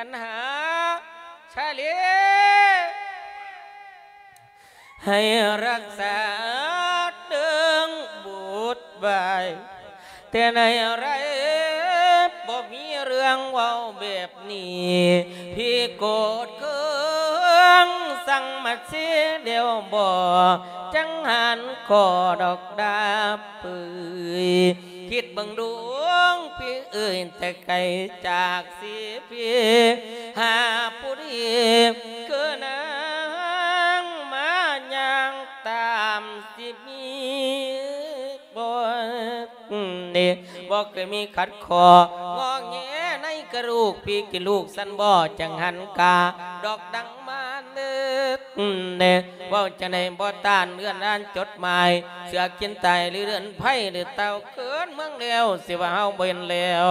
ອັນຫາຊາລີ ໃຫ້ຮັກສາເລື່ອງບຸດໄວ້ ແຕ່ໃນໄລບໍ່ມີເລື່ອງເວົ້າແບບນີ້ ພີ່ໂກດເຄືອງ ສັ່ງມາເສດຽວບໍ່ ຈັ່ງຫັນຂໍດອກດາບເປີຍ ຄິດເບິ່ງດູພີ່ເອີຍ ແຕ່ໄກຈາກສີພີ ຫາຜູ້ດີຄືນາງ ມາຍ່າງຕາມສິມີບໍ່ ນີ້ບໍ່ເຄີຍມີຂັດຂໍ້ ງໍແງໃນກະດູກ ພີ່ກິນລູກຊັ້ນບໍ່ ຈັ່ງຫັນກາດອກດັງມາເນີ ເດ້ ເວົ້າຈັ່ງໃດບໍ່ຕ້ານເລື່ອນອ່ານຈົດໝາຍ ເສືອກິນຕາຍຫຼືເລື່ອນໄພ ຫຼືເຕົ່າເກີດເມືອງແລ້ວ ຊິວ່າເຮົາບໍ່ເຫັນແລ້ວ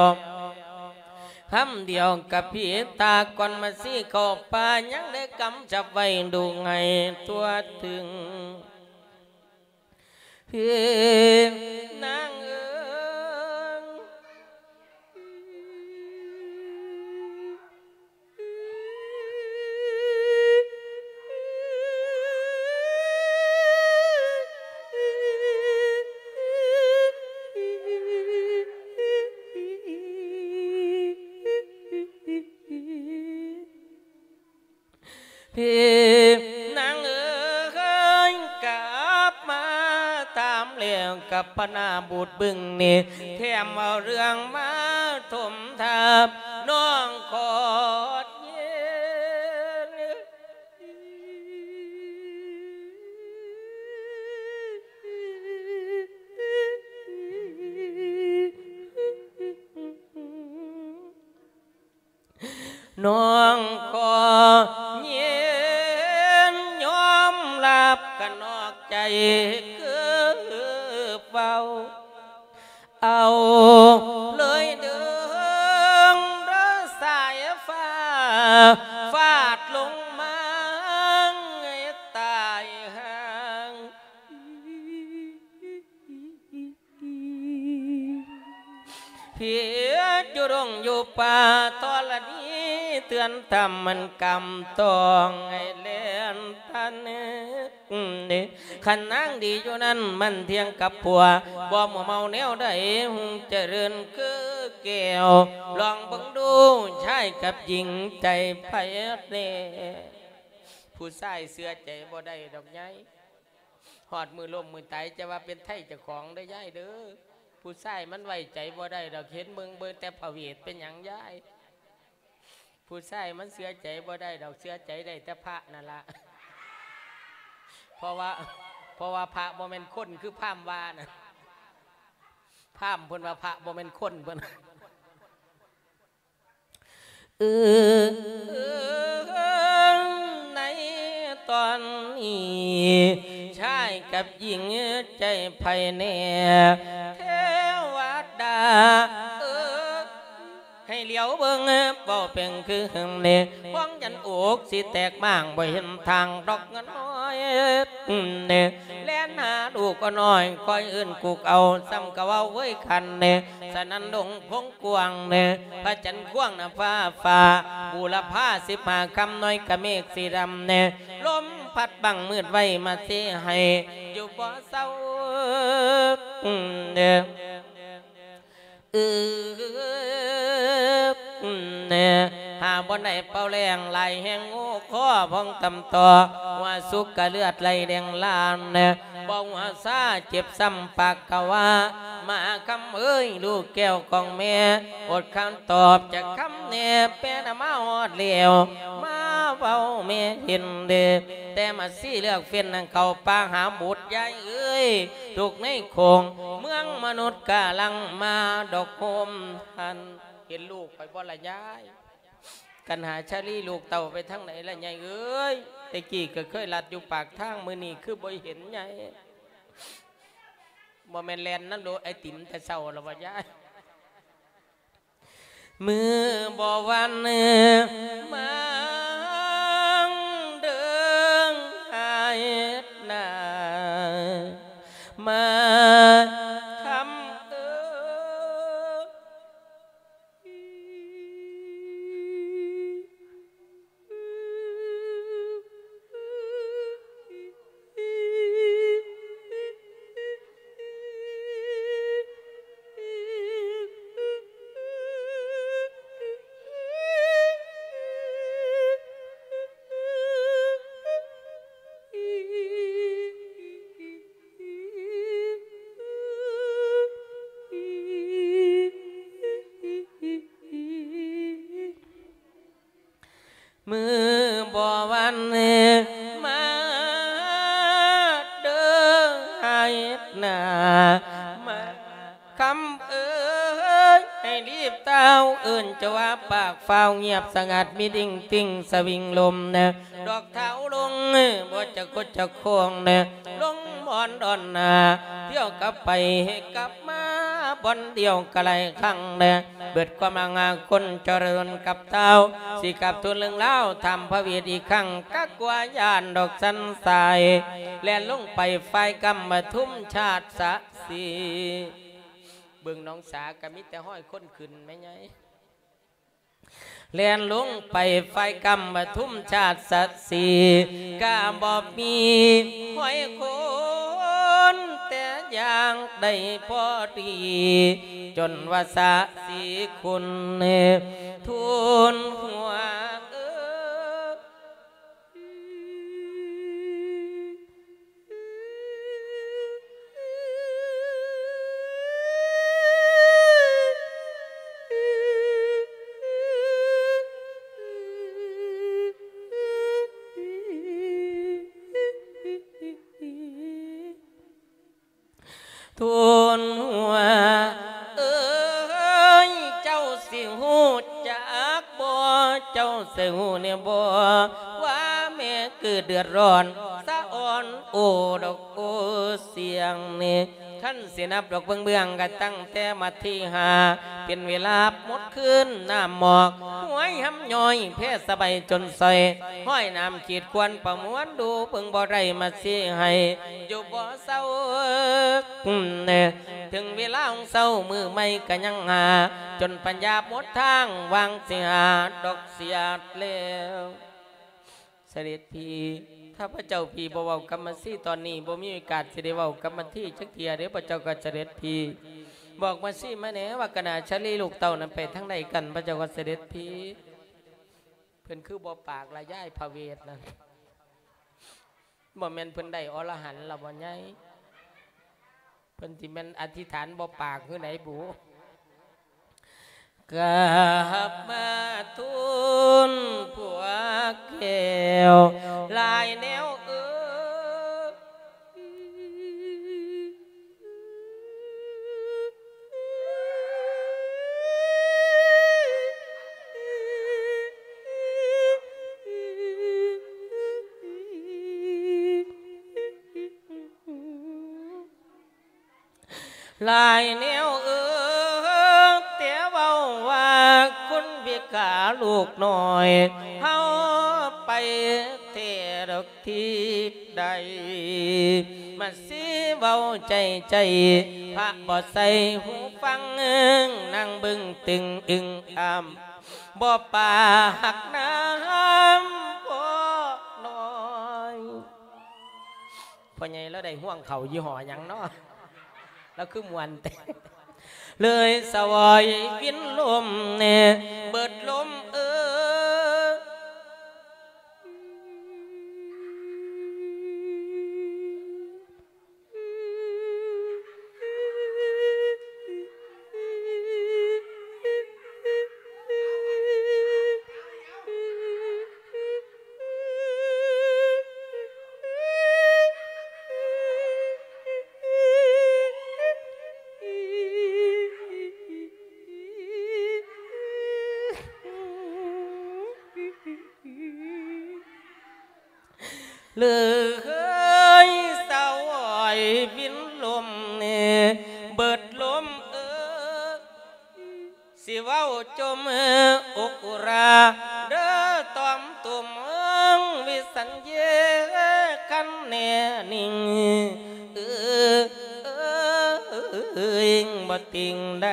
ຄຳດຽວກັບພີຕາກ່ອນມາຊີ້ເຂົ້າປ່າ ຍັງໄດ້ກຳຈັບໄວ້ດູໃຫ້ທົ່ວເຖິງ ພີ່ນາງເອີຍ ພີ່ນາງເອີຍ ກັບມາຖາມແລ້ວກັບພະນາບຸດບຶງນີ້ ແຖມເອົາເລື່ອງມາຖົມທາບ ນ້ອງຂໍເຢັນ ນ້ອງຂໍເຢັນຍອມຮັບ ກະນອກໃຈຄືເວົ້າ ເອົາເລີຍເດີ ເດີສາຍຟ້າ ຟາດລົງມາໃຫ້ຕາຍຫ່າງ ເພດຢູ່ດົງຢູ່ປ່າທໍລະນີ ເຕືອນທຳມັນກຳຕ້ອງໃຫ້ແລ່ນທັນ ຄັນນາງດີຢູ່ນັ້ນ ມັນທ່ຽງກັບຜົວ ບໍ່ມົວເມົາແນວໃດ ຮຸ່ງຈະເລີນຄືແກ້ວ ລອງເບິ່ງດູ ຊາຍກັບຍິງໃຈໃຜແນ່ ຜູ້ຊາຍເຊື່ອໃຈບໍ່ໄດ້ດອກຍາຍ ຮອດມື້ລົ້ມມື້ຕາຍ ຈະວ່າເປັນໄທເຈົ້າຂອງເດີຍາຍເດີ ຜູ້ຊາຍມັນໄວ້ໃຈບໍ່ໄດ້ດອກ ເຫັນເບິ່ງ ເບິ່ງແຕ່ພະເວດ ເປັນຫຍັງຍາຍ ຜູ້ຊາຍມັນເຊື່ອໃຈບໍ່ໄດ້ດອກ ເຊື່ອໃຈໄດ້ແຕ່ພະນັ້ນລະ ເພາະວ່າ ເພາະວ່າພະບໍ່ແມ່ນຄົນ ຄືພາມວ່ານະ ພາມເພິ່ນວ່າພະບໍ່ແມ່ນຄົນ ເພິ່ນ ເອີ ໃນຕອນນີ້ ຊາຍກັບຍິງໃຈໃຜແນ່ ເທວະດາເອີຍ ໃຫ້ຫຼຽວເບິ່ງ ເວົ້າເປັນຄືເຫັນເນ ພວງຈັນອົກຊິແຕກມ້າງ ບໍ່ເຫັນທາງດອກເງິນນ້ອຍເນ ແລ່ນຫາລູກກໍນ້ອຍ ຄອຍເອີ້ນກຸກເອົາ ຊ້ຳກະເວົ້າເວີຍຄັນເນ ສະນັ້ນດົງພົງກວ້າງແນ່ ພະຈັນກວ້າງນະຟ້າຟ້າ ບູລະພາສິບຫ້າຄຳ ນ້ອຍກະເມກສີດຳແນ່ ລົມພັດບັງມືດໄວ້ ມາເຊໃຫ້ຢູ່ບໍ່ເຊົາເນ ເອີ ແນ່ ຫາບ່ອນໃດເປົ່າແລ້ງ ຫຼາຍແຮງງູຄໍພອງຕຳຕໍ່ ຫົວສຸກກະເລືອດໄຫຼແດງລານແນ່ ບໍ່ຫົວຊາເຈັບຊ້ຳປາກກະວ່າ ມາຄຳເອີຍ ລູກແກ້ວຂອງແມ່ ອົດຄຳຕອບຈັກຄຳແນ່ ແປນຳມາຮອດແລ້ວ ມາເວົ້າແມ່ເຫັນເດ ແຕ່ມາຊີ້ເລືອກເຟັນ ນາງເຂົ້າປ່າຫາບຸດຍາຍເອີຍ ທຸກໃນໂຂງເມືອງມະນຸດກາລັງມາດອກໂຮມທັນ ເຫັນລູກຂ້ອຍບໍ່ລະຍາຍ ກັນຫາຊາລີລູກເຕົ້າໄປທາງໃດລະຍາຍເອີຍ ແຕ່ກີ້ກໍເຄີຍລັດຢູ່ປາກທາງ ມື້ນີ້ຄືບໍ່ເຫັນຍາຍ ບໍ່ແມ່ນແລ່ນນຳໂລໄອຕິມແຕ່ເຊົ້າລະບໍ່ຍາຍ ມື້ບໍ່ວັນມາເດີງຫາເຮັດນາ ມາຄຳເອີຍ ມື້ບໍ່ວັນມາເດີໃຫ້ເຮັດນາ ມາຄຳເອີຍ ໃຫ້ລີບທ້າວເອີ້ນເຈົ້າວ່າປາກຟ້າວງຽບສະຫງັດ ມີດິ່ງຕິ່ງສະວິງລົມນະ ດອກທ້າວລົງ ບໍ່ຈະກົດຈະຄອງນະ ລົງບ່ອນດອນນາ ທ່ຽວກັບໄປໃຫ້ກັບມາບ່ອນດຽວກະຫຼາຍຄັ້ງນະ ເບິດຄວາມອາງອາຄົນຈະເລີນກັບທ້າວ ຊິກັບທູນເລື່ອງລາວ ຖາມພະເວດອີກຄັ້ງ ກະກົວຢ້ານດອກສັນຊາຍ ແລ່ນລົງໄປຝາຍກຳປະທຸມຊາດສະສີ ເບິ່ງໜອງສາກະມີແຕ່ຮ້ອຍຄົນຂຶ້ນແມ່ໃຫຍ່ ແລ່ນລົງໄປຝາຍກຳປະທຸມຊາດສະສີ ກະບໍ່ມີຫ້ອຍຄົນ ແຕ່ຢ່າງໃດພໍດີ ຈົນວ່າສະສີຄຸນທູນຫົວເອີຍ. ທູນຫົວເອີຍ ເຈົ້າຊິຮູ້ຈັກບໍ່ ເຈົ້າຊິຮູ້ແນ່ບໍ່ ວ່າແມ່ເກີດເດືອດຮ້ອນສະອອນ ໂອດອກໂອສຽງນີ້ ຄັນຊິນັບດອກເບື້ອງໆ ກະຕັ້ງແຕ່ມັດທີຫ້າ ເປັນເວລາໝົດຄືນ ນ້ຳໝອກຫວຍຫຳຍ້ອຍ ແພສະໃບຈົນຊອຍ ຫ້ອຍນ້ຳຂີດຄວນປະມວນ ດູເບິ່ງບໍ່ໄດ້ມາຊີ້ໃຫ້ ຢູ່ບໍ່ເຊົາ ເຖິງເວລາຂອງເຊົ້າມື້ໃໝ່ກະຍັງຫາ ຈົນປັນຍາໝົດທາງ ຫວ່າງຊິຫາດອກສຽດແລ້ວ. ສະເດັດພີ່ ຖ້າພະເຈົ້າພີ່ບໍ່ເວົ້າກັບມາຊີຕອນນີ້ ບໍ່ມີໂອກາດຊິໄດ້ເວົ້າກັບມາທີຈັກເທື່ອເດ້ ພະເຈົ້າກະສະເດັດພີ່ ບອກມາຊີມາແນ່ວ່າກະນາຊາລີລູກເຕົ້ານັ້ນໄປທາງໃດກັນ ພະເຈົ້າກະສະເດັດພີ່. ເພິ່ນຄືບໍ່ປາກລະຍາຍພະເວດນັ້ນ ບໍ່ແມ່ນເພິ່ນໄດ້ອໍລະຫັນລະບໍ່ໃຫຍ່ ເພິ່ນຊິແມ່ນອະທິຖານບໍ່ປາກຄືໃດບຸ ກັບມາທູນພວກແກ້ວຫຼາຍແນວເອີຍ. ຫຼາຍແນວເອີຍ ແຕ່ເວົ້າວ່າຄຸນພິກາລູກນ້ອຍ ເຮົາໄປແທ້ດອກ ທີ່ໃດ ມາຊີເວົ້າໃຈໃຈ ພະບໍ່ໃສ່ຫູຟັງ ນັ່ງເບິ່ງຕຶງອຶງອ້ຳ ບໍ່ປາກນຳພໍ່ນ້ອຍ. ພໍ່ໃຫຍ່ລາວໄດ້ຮ່ວງເຂົ້າຍີ່ຫໍ້ຫຍັງເນາະ ລາວຄືມ່ວນແທ້ ເລີຍສະຫວອຍວິນລົມແນ່ ເບິດລົມເອີຍ. ເລີຍສະຫວອຍວິນລົມແນ່ ເບິດລົມເອີຍ ຊິເວົ້າຈົ່ມອົກອຸຣາ ເດີຕອມຕຸມເອີງ ວິສັນເຍຄັນແນ່ນິ່ງ ເອີ ເອີ ບໍ່ຕິງໃດ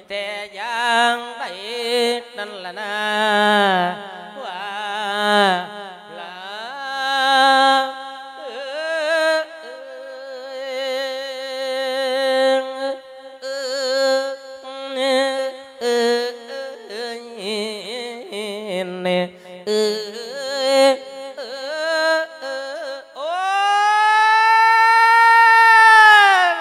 ແຕ່ຢ່າງໃດນັ້ນລະນາ ວ່າລາ ເອີ ເອີ ເອີ ເອີ ເອີ ເອີ ເອີ ເອີ ໂອ້ຍ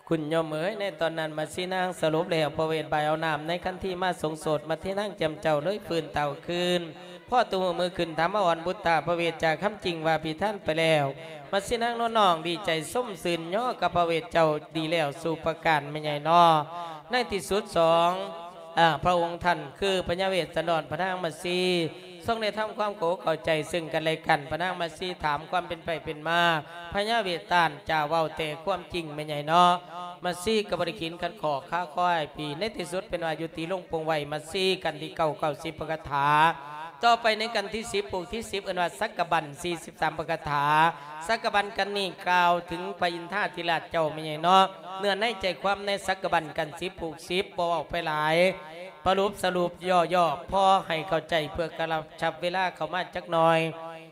ຄຸນ ໂຍມເອີຍ ໃນຕອນນັ້ນມະຊີນາງສະຫຼຸບແລ້ວ ພະເວດບ່າຍເອົານ້ຳໃນຂັນທີມາສົງໂສດ ມະຊີນາງແຈ່ມເຈົ້າເລີຍຟື້ນຕາວຄືນ ພໍຕຸມືຂຶ້ນຖາມມາອ່ອນບຸດຕາ ພະເວດຈາຄຳຈິງວ່າພິທານໄປແລ້ວ ມະຊີນາງໂນ້ນນ້ອງດີໃຈຊົມຊື່ນຍໍກັບພະເວດເຈົ້າດີແລ້ວສູ່ປະການແມ່ໃຫຍ່ນໍ. ໃນທີ່ສຸດສອງ ອາ ພະອົງທ່ານຄືພະຍາເວດສັນດອນພະນາງມາຊີ ຊົງໄດ້ທຳຄວາມເຂົ້າອົກເຂົ້າໃຈເຊິ່ງກັນແລະກັນ ພະນາງມາຊີຖາມຄວາມເປັນໄປເປັນມາ ພະຍາເວດຕ້ານຈະເວົ້າແຕ່ຄວາມຈິງແມ່ໃຫຍ່ເນາະ. ມາຊີກໍບໍ່ໄດ້ຂີນຂັດຂໍ້ຄາຄໍໃຫ້ປີ ໃນທີ່ສຸດເປັນວ່າຍຸຕິລົງປົງໄວ້ ມາຊີກັນທີເກົ້າ ເກົ້າສິບປະຄາຖາ. ຕໍ່ໄປໃນກັນທີສິບ ປູກທີສິບ ເອີ້ນວ່າສັກກະບັນ ສີ່ສິບສາມປະຄາຖາ. ສັກກະບັນກັນນີ້ກ່າວເຖິງພະອິນທາທິລາດເຈົ້າແມ່ໃຫຍ່ເນາະ. ເນື້ອໃນໃຈຄວາມໃນສັກກະບັນກັນສິບ ປູກສິບ ບໍ່ເວົ້າໄປຫຼາຍ ປະຫຼຸບສະຫຼຸບຫຍໍ້ໆ ພໍໃຫ້ເຂົ້າໃຈເພື່ອກະລະຊັບເວລາເຂົ້າມາຈັກໜ່ອຍ.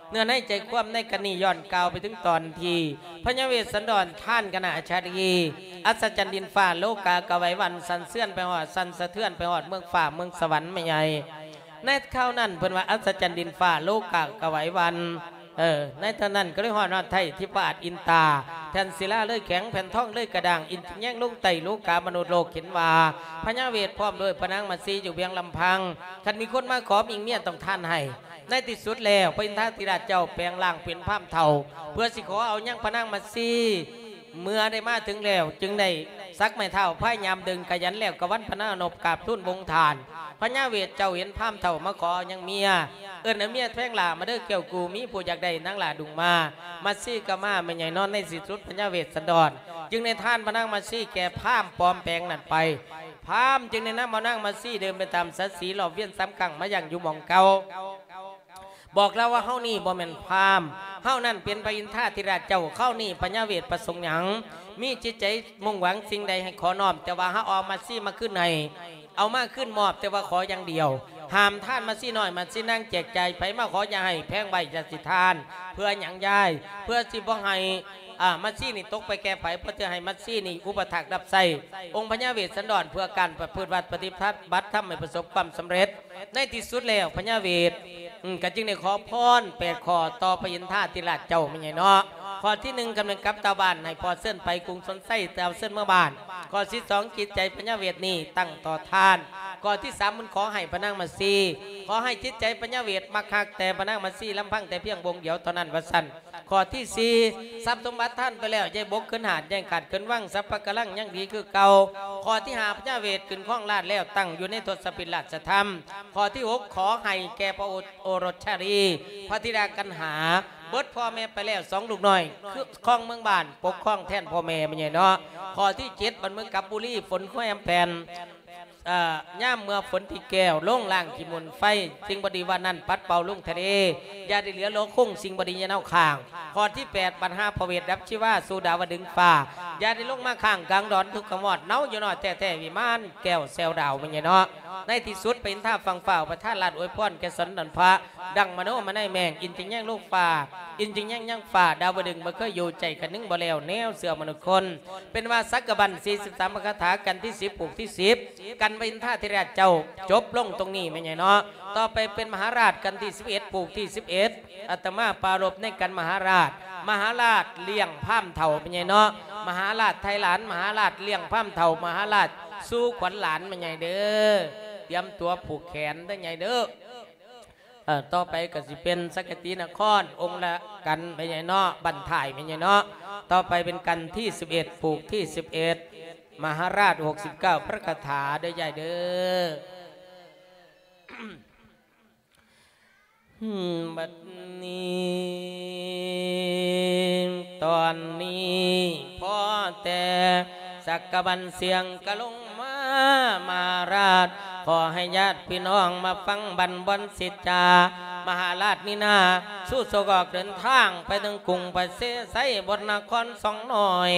ເນື້ອໃນໃຈຄວາມໃນກັນນີ້ຍ້ອນກ່າວໄປເຖິງຕອນທີ່ພະຍາເວດສັນດອນທ່ານຄະນະອາຈາລີ ອັດສະຈັນດິນຟ້າໂລກາກະໄຫວວັນ ສັ່ນເຊືອນໄປຮອດ ສັ່ນສະເທືອນໄປຮອດເມືອງຟ້າເມືອງສະຫວັນແມ່ໃຫຍ່. ໃນຄາວນັ້ນເພິ່ນວ່າອັດສະຈັນດິນຟ້າໂລກາກະໄຫວວັນ ເອີ ໃນຕອນນັ້ນກໍເລີຍຮອດຮອດໄທທິພາດອິນຕາ ແຜ່ນສິລາເລີຍແຂງ ແຜ່ນທອງເລີຍກະດ້າງ ອິນຈິງແຍງລົງໃຕ້ໂລກາມະນຸດໂລກເຫັນວ່າ ພະຍາເວດພ້ອມດ້ວຍພະນາງມາຊີຢູ່ພຽງລຳພັງ ຄັນມີຄົນມາຂໍມີເມຍຕ້ອງທານໃຫ້. ໃນທີ່ສຸດແລ້ວ ພະອິນທາທິລາດເຈົ້າແປງຮ່າງເປັນພາມເຖົ້າ ເພື່ອຊິຂໍເອົາຍັງພະນາງມາຊີ ເມື່ອໄດ້ມາເຖິງແລ້ວ ຈຶ່ງໄດ້ສັກໄມ້ເທົ້າພະຍາຍາມດຶງຂະຫຍັນແລ້ວກະວັນພະນານົບກາບທູນບົງທານ. ພະຍາເວດເຈົ້າເຫັນພາມເຖົ້າມາຂໍເອົາຍັງເມຍ ເອີ້ນເອົາເມຍແພງຫຼ້າມາເດີແກ້ວກູ ມີຜູ້ຢາກໄດ້ນາງຫຼ້າດຸງມາ ມາຊີກໍມາແມ່ໃຫຍ່ເນາະ. ໃນທີ່ສຸດພະຍາເວດສັນດອນຈຶ່ງໄດ້ທານພະນາງມາຊີແກ່ພາມປອມແປງນັ້ນໄປ. ພາມຈຶ່ງໄດ້ນຳເອົານາງມາຊີເດີນໄປຕາມສັດສີລອບວຽນສາມຄັ້ງມາຍັງຢູ່ໝ່ອງເກົ່າ. ບອກລາວວ່າ ເຮົານີ້ບໍ່ແມ່ນພາມ ເຮົານັ້ນເປັນພະອິນທາທິລາດເຈົ້າ. ຄາວນີ້ພະຍາເວດປະສົງຫຍັງ? ມີຈິດໃຈມຸ່ງຫວັງສິ່ງໃດໃຫ້ຂໍນ້ອມ ແຕ່ວ່າເຮົາເອົາມາຊີມາຄືນໃຫ້ ເອົາມາຄືນມອບ ແຕ່ວ່າຂໍຢ່າງດຽວ ຫ້າມທານມາຊີນ້ອຍມາຊີນາງ ແຈກຈ່າຍໃຜມາຂໍຢ່າໃຫ້ແພງໄວ້ ຢ່າຊິທານ. ເພື່ອຫຍັງຍາຍ? ເພື່ອຊິບໍ່ໃຫ້ ອາ ມາຊີນີ້ຕົກໄປແກ່ໃຜ ເພື່ອຈະໃຫ້ມາຊີນີ້ອຸປະຖາກຮັບໃຊ້ອົງພະຍາເວດສັນດອນ ເພື່ອການປະພຶດວັດປະຕິບັດທຳໃຫ້ປະສົບຄວາມສຳເລັດ. ໃນທີ່ສຸດແລ້ວພະຍາເວດ ອືມ ກໍຈຶ່ງໄດ້ຂໍພອນແປດຂໍ້ຕໍ່ພະອິນທາທິລາດເຈົ້າແມ່ໃຫຍ່ເນາະ. ຂໍ້ທີໜຶ່ງ ກຳລັງກັບຕາບ້ານ ໃຫ້ພໍ່ເຊີນໄປກຸງສົນໄຊ ຕາວເຊີນເມືອບ້ານ. ຂໍ້ທີສອງ ຈິດໃຈພະຍາເວດນີ້ຕັ້ງຕໍ່ທານ. ຂໍ້ທີສາມ ມັນຂໍໃຫ້ພະນາງມາຊີ ຂໍໃຫ້ຈິດໃຈພະຍາເວດມັກຮັກແຕ່ພະນາງມາຊີລຳພັງແຕ່ພຽງອົງດຽວເທົ່ານັ້ນວ່າຊັ້ນ. ຂໍ້ທີສີ່ ຊັບສົມບັດທານໄປແລ້ວ ຢ່າບົກຂຶ້ນຫາດ ຢ່າຂາດຂຶ້ນວັງ ສັບພະກຳລັງຍັງດີຄືເກົ່າ. ຂໍ້ທີຫ້າ ພະຍາເວດຂຶ້ນຄອງລາດແລ້ວ ຕັ້ງຢູ່ໃນທົດສະປິດລາຊະທຳ. ຂໍ້ທີຫົກ ຂໍໃຫ້ແກ່ພະໂອ ໂອລົດຊາລີ ພະທິດາກັນຫາ ເບິດພໍ່ແມ່ໄປແລ້ວສອງລູກນ້ອຍ ຄືຄອງເມືອງບ້ານ ປົກຄອງແທນພໍ່ແມ່ແມ່ໃຫຍ່ເນາະ. ຂໍ້ທີເຈັດ ບັດເມືອງກັບບຸລີ ຝົນຄວາຍອຳແຜ່ນ ເອີ ຍາມເມື່ອຝົນທີ່ແກ້ວລົງລ້າງຂີ້ຝຸ່ນໄຟ ສິ່ງບໍ່ດີວ່ານັ້ນປັດເປົ່າລົງທະເລ ຢ່າໄດ້ເຫຼືອໂລຄົງ ສິ່ງບໍ່ດີຢ່າເນົາຄ້າງ. ຂໍ້ທີແປດ ບັນຫາພະເວດດັບຊີວາສູ່ດາວະດຶງຟ້າ ຢ່າໄດ້ລົງມາຄ້າງກາງດອນທຸກຂະມອດ ເນົາຢູ່ນ້ອຍແທ້ໆ ວິມານແກ້ວແຊວດາວແມ່ນຫຍັງເນາະ. ໃນທີ່ສຸດ ໄປເຫັນທ້າວຝັ່ງຟ້າ ປະທານລາດອວຍພອນແກ່ສັນດອນພະ ດັ່ງມະໂນມະໄນແມງ ອິນຈຶ່ງແຍງລົງຟ້າ ອິນຈຶ່ງແຍງຍັງຟ້າ ດາວະດຶງບໍ່ເຄີຍຢູ່ ໃຈຂະນຶງບໍ່ແລ້ວ ແນວເຊື່ອມະນຸດຄົນ. ເປັນວ່າສັກກະບັນສີ່ສິບສາມພະຄາຖາ ກັນທີສິບ ປູກທີສິບ ກັນພະອິນທາທິລາດເຈົ້າ ຈົບລົງຕົງນີ້ແມ່ນຫຍັງເນາະ. ຕໍ່ໄປເປັນມະຫາລາດ ກັນທີສິບເອັດ ປູກທີສິບເອັດ ອາດຕະມາປາລົບໃນກັນມະຫາລາດ ມະຫາລາດລ້ຽງພາມເຖົ້າແມ່ນຫຍັງເນາະ. ມະຫາລາດໄທຫຼານ ມະຫາລາດລ້ຽງພາມເຖົ້າ ມະຫາລາດສູ່ຂວັນຫຼານແມ່ນຫຍັງເດີ ຕຽມຕົວຜູກແຂນເດີໃຫຍ່ເດີ. ເອີ ຕໍ່ໄປກໍຊິເປັນສັກກະຕີນະຄອນ ອົງລະກັນແມ່ນຫຍັງເນາະ ບັ້ນທ້າຍແມ່ນຫຍັງເນາະ. ຕໍ່ໄປເປັນກັນທີສິບເອັດ ປູກທີສິບເອັດ ມະຫາລາດຫົກສິບເກົ້າພະຄາຖາເດີຍາຍເດີ. ບັດນີ້ ຕອນນີ້ພໍແຕ່ສັກກະບັນສຽງກະລົງມາ ມະຫາລາດ ຂໍໃຫ້ຍາດພີ່ນ້ອງມາຟັງບັນບອນສິດຈາ ມະຫາລາດນີ້ນາ ສູ່ສະກອກເດີນທາງໄປເຖິງກຸງປະເສໄຊ ບົດນະຄອນສອງນ້ອຍ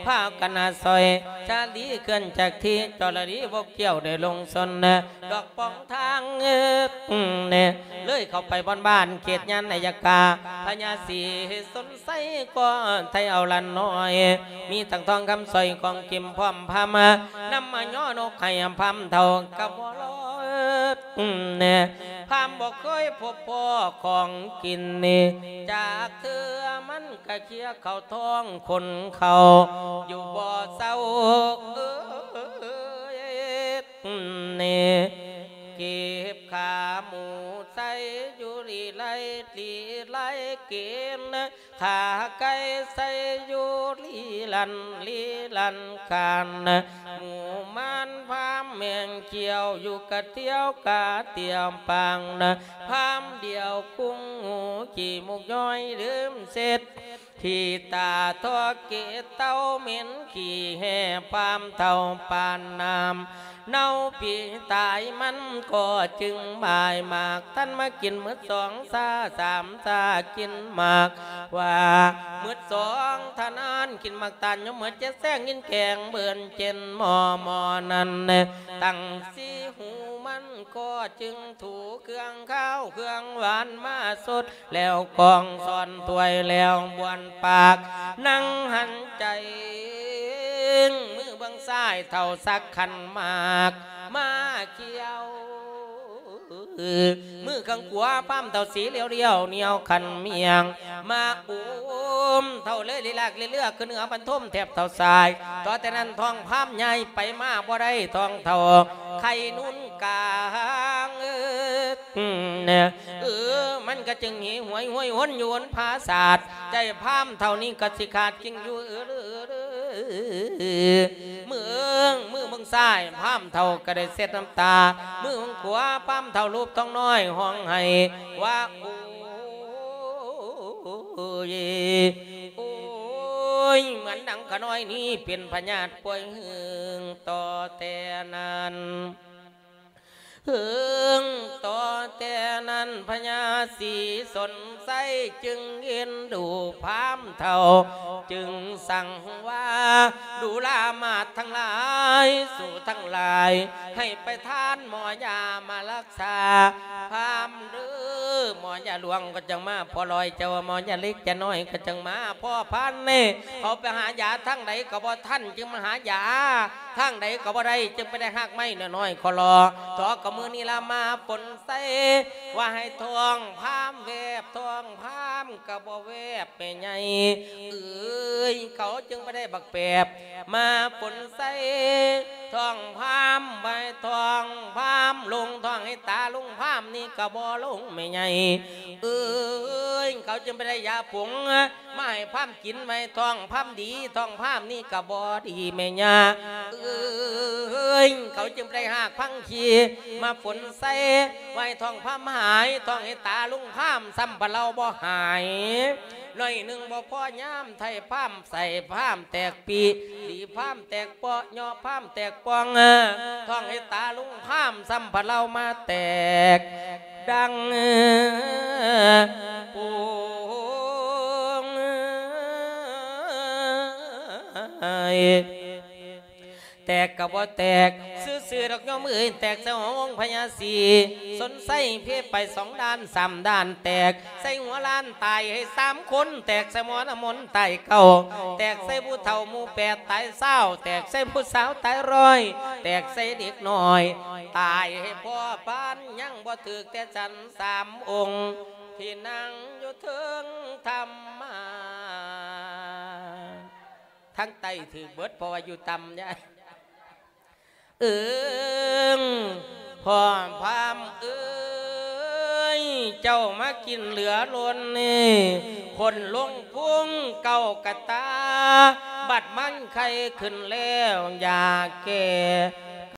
ພາກັນຫາຊ່ອຍ ຊາລີເຄື່ອນຈາກທີ່ ຈໍລະດີບົກກ້ຽວໄດ້ລົງຊົນ ດອກປອງທາງ ເອີ ເລີຍເຂົ້າໄປບ່ອນບ້ານເຂດຍານໄນຍະກາ ພະຍາສີຊົນໄຊກໍໄທເອົາຫຼານນ້ອຍ ມີທັງທອງຄຳສ້ອຍຂອງກິມພ້ອມພາມາ ນຳມາຍໍນົກໃຫ້ພາມເຖົ້າກັບບໍ່ລອດ ແນ່ ພາມບໍ່ເຄີຍພົບພໍ້ຂອງກິນນີ້ ຈາກເທື່ອມັນກະເຄຍເຂົ້າທ້ອງຄົນເຂົາຢູ່ບໍ່ເຊົາ ເອີຍ ນີ້ ເກັບຂາໝູໃສ່ຢູ່ລີໄລ ລີໄລກິນ ຂາໄກ່ໃສ່ຢູ່ລີລັນ ລີລັນການ ໝູມານພາມແມ່ງຂຽວຢູ່ກະທ່ຽວກະທ່ຽວປາງ ພາມດຽວກຸງຫູຂີ້ມຸກຍ້ອຍລືມເຊັດ ຂີ້ຕາທໍ່ເກເຕົ່າເໝັນຂີ້ແຫ່ ພາມເຖົ້າປານນ້ຳ ເນົ່າປີຕາຍມັນກໍຈຶ່ງບາຍໝາກ ທ່ານມາກິນໝົດສອງຊາສາມຊາ ກິນໝາກວ່າໝົດສອງທະນານ ກິນໝາກຕານຢູ່ໝົດເຈັດແຊງ ກິນແກງເບິ່ນເຈັນໝໍ້ ໝໍ້ນັ້ນ ຕັ້ງສີ່ຫູມັນກໍຈຶ່ງຖູເຄື່ອງຄາວເຄື່ອງຫວານມາສົດ ແລ້ວກອງຊ້ອນຖ້ວຍແລ້ວບ້ວນປາກ ນັ່ງຫັນໃຈ ມືເບື້ອງຊ້າຍເຖົ້າສັກຂັນໝາກມາຂຽວ ມືເບື້ອງຂວາພາມເຖົ້າສີຫຼຽວໆ ໜຽວຂັນໝ້ຽງມາອຸມ ເຖົ້າເລີຍລີລາກເຫຼືອຂຶ້ນເໜືອບັນທົມແທບເຖົ້າຊ້າຍ ຕໍ່ແຕ່ນັ້ນທ້ອງພາມໃຫຍ່ໄປມາບໍ່ໄດ້ ທ້ອງເຖົ້າໄຂ່ນຸນກາງ ເອີ ມັນກະຈຶ່ງຫິວຫວຍຫວຍຫົນຢູ່ຫົນຜາສາດ ໃຈພາມເຖົ້ານີ້ກະຊິຂາດກິ່ງຢູ່ ເອີ ມື ມືເບື້ອງຊ້າຍພາມເຖົ້າກະໄດ້ເຊັດນ້ຳຕາ ມືເບື້ອງຂວາພາມເຖົ້າລູບທ້ອງນ້ອຍຮ້ອງໄຫ້ວ່າ ໂອ້ຍ ໂອ້ຍ ເໝືອນດັ່ງຂະນ້ອຍນີ້ເປັນພະຍາດປ່ວຍຫຶງ ຕໍ່ແຕ່ນັ້ນ ຫຶງ ຕໍ່ແຕ່ນັ້ນພະຍາສີສົນໄຊຈຶ່ງເອັນດູພາມເຖົ້າ ຈຶ່ງສັ່ງວ່າ ດູລາມາດທັງຫຼາຍ ສູທັງຫຼາຍ ໃຫ້ໄປທານໝໍຢາມາລັກສາພາມເດີ ໝໍຢາຫຼວງກໍຈັ່ງມາພໍລອຍ ເຈົ້າວ່າໝໍຢາເລັກຈະນ້ອຍກໍຈັ່ງມາ ພໍ່ພານນີ້ ເຂົາໄປຫາຢາທາງໃດກໍບໍ່ທັນ ຈຶ່ງມາຫາຢາ ທາງໃດກໍບໍ່ໄດ້ ຈຶ່ງໄປໄດ້ຮາກໄມ້ນ້ອຍໆຂໍລໍ ເທາະກະມື້ນີ້ລະມາຝົນໃສ່ ວ່າໃຫ້ທ້ອງພາມແວບ ທ້ອງພາມກະບໍ່ແວບແມ່ໃຫຍ່ເອີຍ ເຂົາຈຶ່ງໄປໄດ້ບັກແປບ ມາຝົນໃສ່ທ້ອງພາມ ໄວ້ທ້ອງພາມ ລົງທ້ອງໃຫ້ຕາລຸງພາມນີ້ກະບໍ່ລົງແມ່ໃຫຍ່ເອີຍ ເຂົາຈຶ່ງໄປໄດ້ຢາຜົງ ມາໃຫ້ພາມກິນໄວ້ທ້ອງພາມດີ ທ້ອງພາມນີ້ກະບໍ່ດີແມ່ຍ່າເອີຍ ເຂົາຈຶ່ງໄດ້ຮາກຜັງຄີມາຝົນໃສ່ ໄວ້ທ້ອງພາມຫາຍ ທ້ອງໃຫ້ຕາລຸງພາມ ຊ້ຳພະເລົາບໍ່ຫາຍ ໜ້ອຍໜຶ່ງບໍ່ພໍຍາມໄທພາມໃສ່ພາມແຕກປີ ດີພາມແຕກເປາະ ຍໍພາມແຕກປ່ອງ ທ້ອງໃຫ້ຕາລຸງພາມ ຊ້ຳພະເລົາມາແຕກ ດັ່ງໂປ່ງ ແຕກກະບໍ່ແຕກຊື່ໆດອກໂຍມເອີຍ ແຕກໃສ່ຫົວອົງພະຍາສີສົນໄຊ ເພໄປສອງດ້ານສາມດ້ານ ແຕກໃສ່ຫົວລ້ານຕາຍໃຫ້ສາມຄົນ ແຕກໃສ່ໝໍນ້ຳມົນຕາຍເກົ້າ ແຕກໃສ່ຜູ້ເຖົ້າໝູ່ແປດຕາຍຊາວ ແຕກໃສ່ຜູ້ສາວຕາຍຮ້ອຍ ແຕກໃສ່ເດັກນ້ອຍ ຕາຍໃຫ້ພໍ່ພານ ຍັງບໍ່ຖືກແຕ່ສັນສາມອົງ ທີ່ນັ່ງຢູ່ເທິງທຳມານ ທາງໃຕ້ຖືກເບິດ ເພາະວ່າຢູ່ຕ່ຳຍາຍ ເອີງ ພໍ່ພາມເອີຍ ເຈົ້າມາກິນເຫຼືອລົ້ນນີ້ ຄົນລົງພຸງເກົ້າກະຕາ ບັດມັນໄຄຂຶ້ນແລ້ວ ຢາແກ້